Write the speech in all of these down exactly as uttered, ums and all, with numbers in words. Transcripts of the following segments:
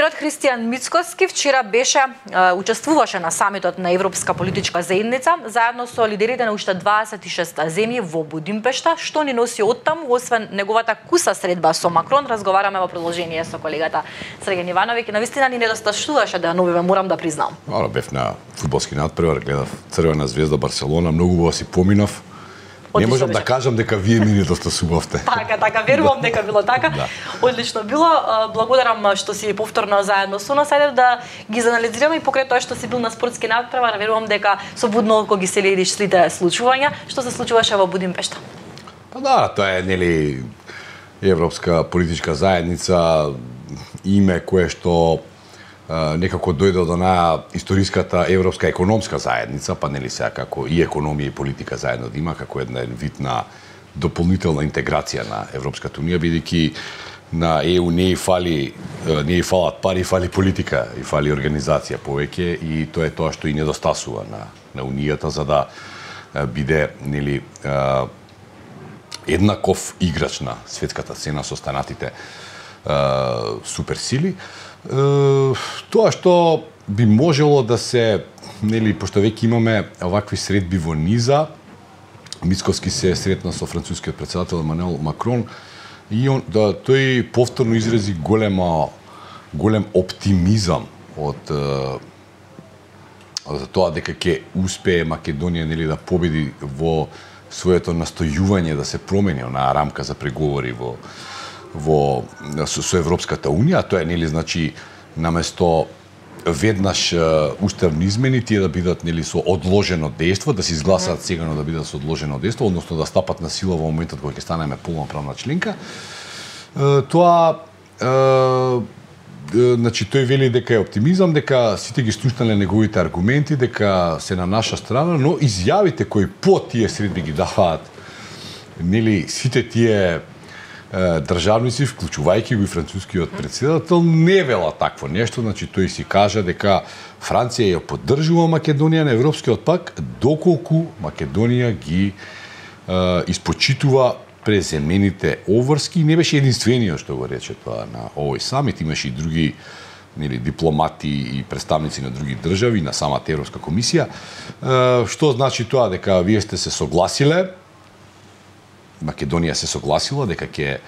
Премиерот Христијан Мицкоски вчера беше учествуваше на самитот на Европска политичка заедница заедно со лидерите на уште дваесет и шест земји во Будимпешта. Што ни носи оттаму, освен неговата куса средба со Макрон, разговараме во продолжение со колегата Срген Ивановиќ. Навистина ни недостатуваше да новиве, морам да признам. Ала бев на фудбалски надпревар, гледав Црвена звезда Барселона, многу убаво си поминав. Не можам да кажам дека вие ми недостасувавте. Така, така, верувам дека било така. Да. Одлично било. Благодарам што си повторно заедно со нас. Ајде да ги заанализираме и покрај тоа што си бил на спортски надпревар, верувам дека со будно око ги следиш сите случувања. Што се случуваше во Будимпешта? Па да, тоа е нели Европска политичка заедница, име кое што некако дојде од онаа историската Европска економска заедница, па нели сега како и економија и политика заедно да има, како една вид на дополнителна интеграција на Европската унија, бидејќи на Е У не и фали, не и фалат пари, фали политика и фали организација повеќе, и тоа е тоа што и недостасува на на унијата за да биде нели еднаков играч на светската сцена со останатите суперсили. Тоа што би можело да се, нели, пошто веќе имаме овакви средби во низа, Мицкоски се сретна со францускиот претседател Емануел Макрон и он, да, тој повторно изрази голема, голем оптимизам од за тоа дека ќе успее Македонија, нели, да победи во своето настојување да се промени онаа рамка за преговори во во со, со Европската унија. Тоа е, нели, значи наместо веднаш уставни измени тие да бидат, нели, со одложено дејство, да се изгласаат сега, но да бидат со одложено дејство, односно да стапат на сила во моментот кога ќе станеме полноправна членка. Тоа значи тој вели дека е оптимизам, дека сите ги слушнале неговите аргументи, дека се на наша страна, но изјавите кои по тие средби ги даваат, нели, сите тие државници, вклучувајќи го и францускиот претседател, не вела такво нешто. Значи тој си кажа дека Франција ја поддржува Македонија на Европскиот пак доколку Македонија ги е, испочитува преземените обврски. Не беше единствениот што го рече тоа на овој самит, имаше и други, нели, дипломати и представници на други држави, на самата Европска комисија. Е, што значи тоа? Дека вие сте се согласиле, Македонија се согласила дека ќе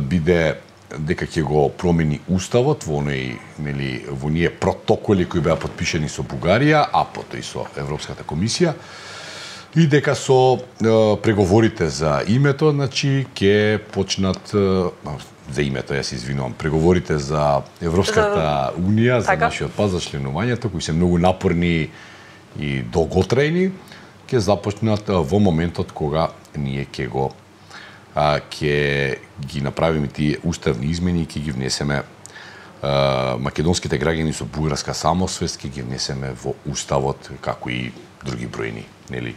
биде, дека ќе го промени уставот во оној, нели, во оние протоколи кои беа подпишани со Бугарија, а потоа и со Европската комисија, и дека со е, преговорите за името, значи ќе почнат е, за името, јас се извинувам, преговорите за Европската унија, за така, нашиот пат, за членувањето, кои се многу напорни и долготрајни, ќе започнат во моментот кога ние ќе го а, ќе ги направиме тие уставни измени и ќе ги внесеме а, македонските граѓани со бугарска самосвест, ќе ги внесеме во уставот како и други бројни, нели?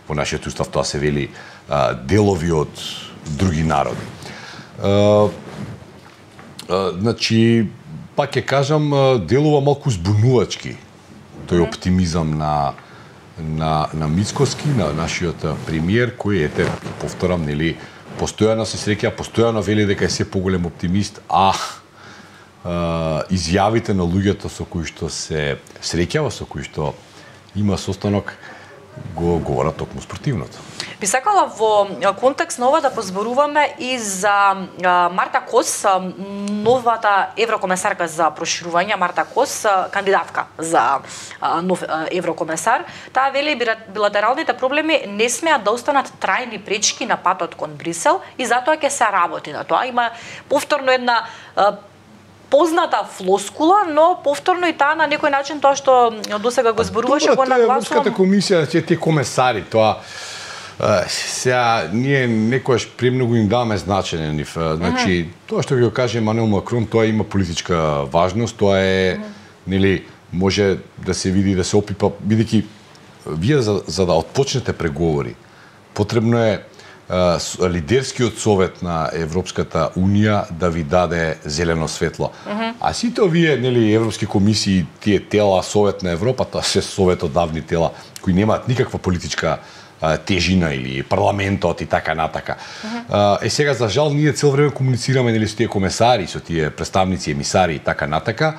Во нашиот устав тоа се вели а, делови од други народи. А, а, значи, пак ќе кажам, делува малку збунувачки тој оптимизам на на на Мицкоски, на нашиот премиер, кој, ете, повторам, нели, постојано се среќа, постојано вели дека е се поголем оптимист, а, а изјавите на луѓето со кои што се среќава, со кои што има состанок, го говорат токму спротивното. Би сакала во контекст на ова да позборуваме и за Марта Кос, новата еврокомесарка за проширување. Марта Кос, кандидатка за нов еврокомесар. Таа вели билатералните проблеми не смеат да останат трајни пречки на патот кон Брисел и затоа ќе се работи на тоа. Има повторно една позната флоскула, но повторно и таа на некој начин тоа што досега го зборуваше, го нагласувам. Европската комисија, тие комесари, тоа сега ние некојаш премногу им даваме значење нив. Значи, тоа што ви го каже Емануел Макрон, тоа има политичка важност, тоа е, нели, може да се види, да се опипа, бидејќи вие за, за да отпочнете преговори, потребно е а, лидерскиот совет на Европската унија да ви даде зелено светло. Uh -huh. А сите овие, нели, европски комисии, тие тела, Совет на Европа, тоа се совет од давни тела кои немаат никаква политичка тежина или парламентот и така натака. Uh-huh. Е сега за жал ние цел време комуницираме нели со тие комесари, со тие представници, емисари и така натака,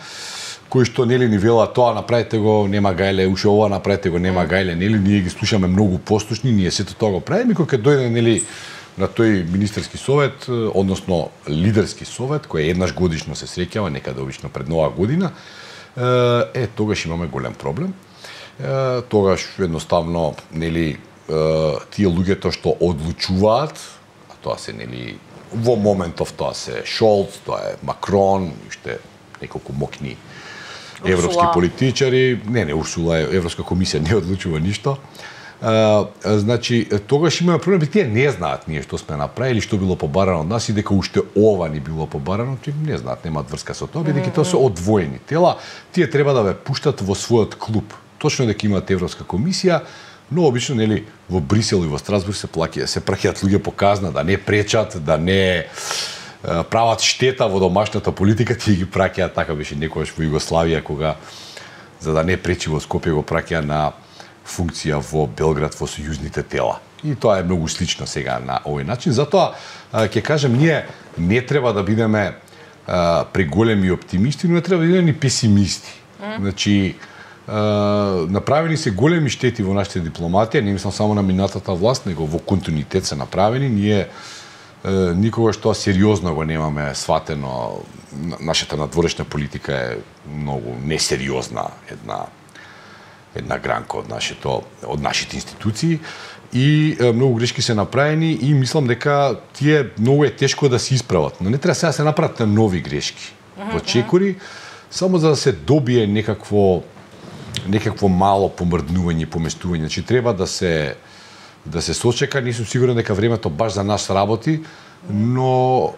кои што нели ни велат тоа направете го, нема гајле, уште ова направете го, нема гајле, нели ние ги слушаме многу послушни, ние сето тоа го правиме, кога ќе дојде нели на тој министерски совет, односно лидерски совет, кој еднаш годишно се среќава, некаде обично пред нова година, е тогаш имаме голем проблем. Е, тогаш едноставно нели тие луѓето што одлучуваат, а тоа се нели во моментов тоа се Шолц, тоа е Макрон, уште неколку мокни европски Урсула. Политичари, не не Урсула, Европска комисија не одлучува ништо. А, значи тогаш имаме проблем, тие не знаат ние што сме направили, што било побарано од нас и дека уште ова ни било побарано, тие не знаат, немаат врска со тоа, бидејќи тоа се одвоени тела, тие треба да ве пуштат во својот клуб. Точно дека имаат Европска комисија, но обично нели во Брисел и во Страсбург се плаќа, се праќаат луѓе по казна да не пречат, да не прават штета во домашната политика, тие ги праќаат, така беше некогаш во Југославија кога за да не пречи во Скопје го праќа на функција во Белград во сојузните тела. И тоа е многу слично сега на овој начин. Затоа ќе кажам, ние не треба да бидеме а, преголеми оптимисти, но не треба да бидеме ни песимисти. Mm. Значи Uh, направени се големи штети во нашите дипломатија, не мислам само на минатата власт, него во континуитет се направени. Ние uh, никогаш тоа сериозно го немаме сватено. Нашата надворешна политика е многу несериозна една една гранка од нашето од нашите институции и uh, многу грешки се направени и мислам дека тие многу е тешко да се исправат. Но не треба сега да се направат нови грешки mm-hmm. во чекори, само за да се добие некакво некакво мало помрднување и поместување. Значи треба да се да се сочека, не сум сигурен дека времето баш за нас работи, но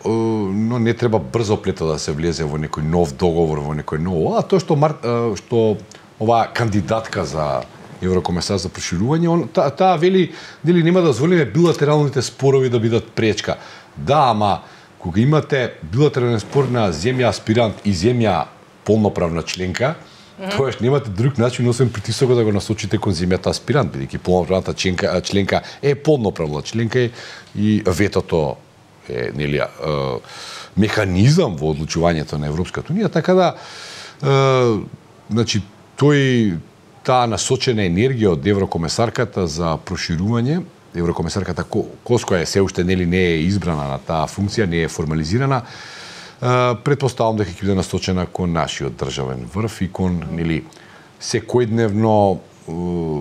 но не треба брзо плето да се влезе во некој нов договор, во некој ново. А тоа што мар, што оваа кандидатка за еврокомесар за проширување, таа та вели дали нема да дозволиме билатералните спорови да бидат пречка. Да, ама кога имате билатерален спор на земја аспирант и земја полноправна членка, тоаш немате друг начин освен притисокот да го насочите кон земјата аспирант, бидејќи полноправната членка, членка е полноправна членка и ветото е нели механизам во одлучувањето на Европската унија, така да е, значи тој таа насочена енергија од еврокомесарката за проширување, еврокомесарката Кос, која се уште нели не е избрана на таа функција, не е формализирана, Uh, предпоставам дека ќе биде насочена кон нашиот државен врв и кон нели секојдневно uh,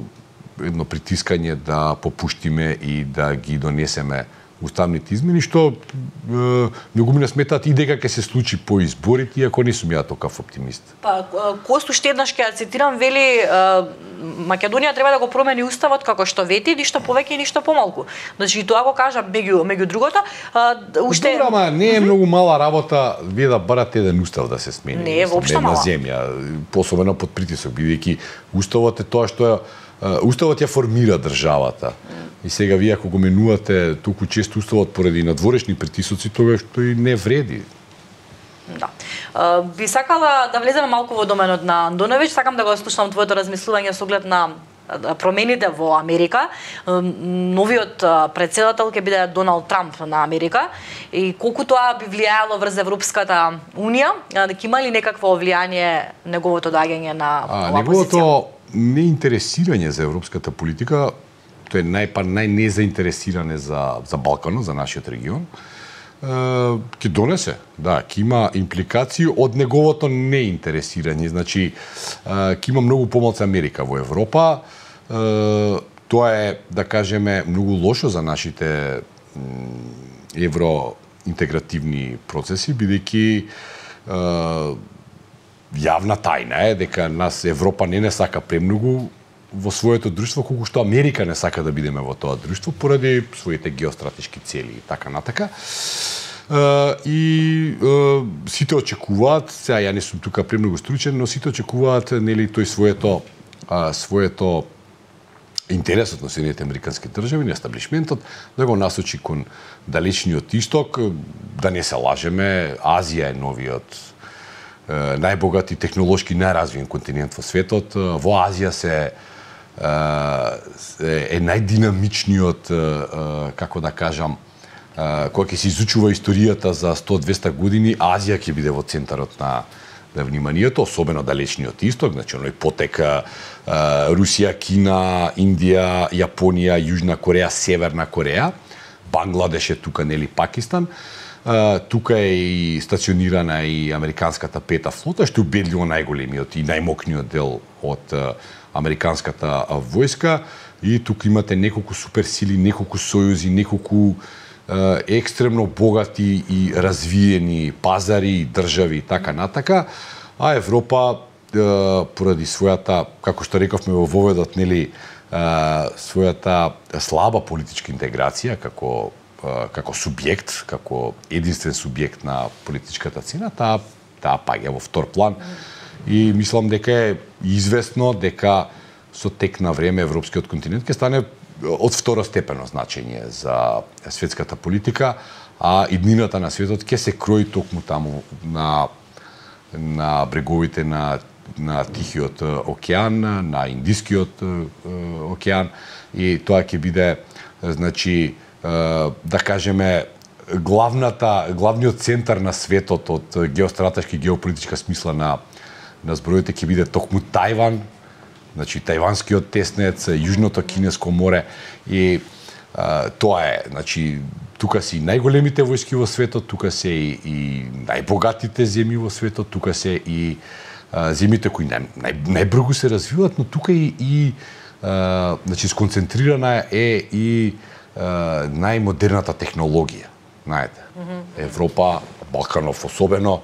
едно притискање да попуштиме и да ги донесеме уставните измени, што е, многу ми не сметаат и дека ќе се случи по изборите, иако не сум ја такав оптимист. Па, Косту ще еднаш ќе цитирам, вели Македонија треба да го промени уставот како што вети, ништо повеќе и ништо помалку. Значи тоа го кажа меѓу меѓу другото, уште Добра, ама не е многу мала работа вие да барате еден устав да се смени. Не е воопшто мала. На земја, посебно под притисок, бидејќи уставот е тоа што е уставот ја формира државата. И сега вие ако го менувате толку често уставот поради надворешни притисоци, тогаш тој не вреди. Да. Uh, би сакала да влеземе малку во доменот на Андоновиќ, сакам да го слушам твоето размислување со оглед на промените во Америка. Новиот претседател ќе биде Доналд Трамп на Америка и колку тоа би влијаело врз Европската унија, дека има ли некакво влијание неговото доаѓање на оваа позиција? Неговото неинтересирање за европската политика, тоа е најпар најнезаинтересиране за за Балканот, за нашиот регион, ќе донесе, да, ќе има импликации од неговото неинтересирање. Значи, ќе има многу помалку Америка во Европа. Тоа е, да кажеме, многу лошо за нашите евроинтегративни процеси, бидејќи јавна тајна е дека нас Европа не не сака премногу во своето друштво, колку што Америка не сака да бидеме во тоа друштво поради своите геостратешки цели и така натака. Uh, и uh, сите очекуваат, сега ја не сум тука премногу стручен, но сите очекуваат нели тој своето uh, своето интересот на Соединетите американски држави, на естаблишментот, да го насочи кон далечниот исток, да не се лажеме, Азија е новиот најбогат и технолошки најразвиен континент во светот. Во Азија се е најдинамичниот, како да кажам, кога ќе се изучува историјата за сто до двесте години, Азија ќе биде во центарот на на вниманието, особено далечниот исток, значи оној потека Русија, Кина, Индија, Јапонија, Јужна Кореја, Северна Кореја, Бангладеш е тука, нели, Пакистан. Тука е и стационирана и американската пета флота, што е убедливо најголемиот и најмокниот дел од американската војска, и тука имате неколку суперсили, неколку сојузи, неколку екстремно богати и развиени пазари, држави и така натака, а Европа поради својата, како што рековме во воведот, нели, својата слаба политичка интеграција како како субјект, како единствен субјект на политичката сцена, таа таа паѓа во втор план. И мислам дека е известно дека со тек на време европскиот континент ќе стане од второстепено значење за светската политика, а иднината на светот ќе се крои токму таму на на бреговите на на Тихиот океан, на Индискиот океан, и тоа ќе биде, значи, да кажеме, главната главниот центар на светот од геостратешки и геополитичка смисла на на збројите ќе биде токму Тајван, значи тајванскиот теснец, Јужното Кинеско море, и а, тоа е, значи тука се и најголемите војски во светот, тука се и, и најбогатите земји во светот, тука се и а, земјите кои нај, нај, најбрзо се развиваат, но тука и, и а, значи сконцентрирана е и а, најмодерната технологија, знаете. Mm-hmm. Европа, Балканов особено,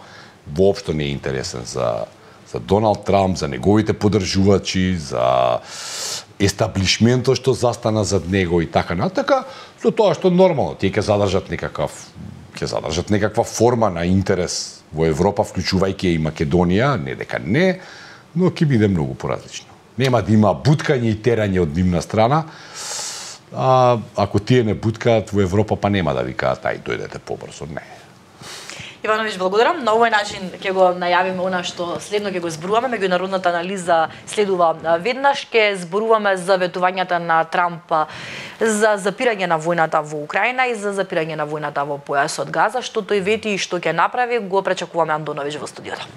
воопшто не е интересен за за Доналд Трамп, за неговите поддржувачи, за естаблишментот што застана зад него и така натака, со тоа што нормално тие ќе задржат некакав ќе задржат некаква форма на интерес во Европа, вклучувајќи и Македонија, не дека не, но ќе биде многу поразлично. Нема да има буткање и терање од нивна страна, а ако тие не буткаат во Европа, па нема да викаат ај дојдете побрзо, не. Ивановиќ, благодарам. На овој начин ќе го најавиме она што следно ќе го зборуваме. Меѓународната анализа следува веднаш. Ќе зборуваме за ветувањата на Трамп за запирање на војната во Украина и за запирање на војната во појасот Газа. Што тој вети и што ќе направи, го пречекуваме Андоновиќ во студиото.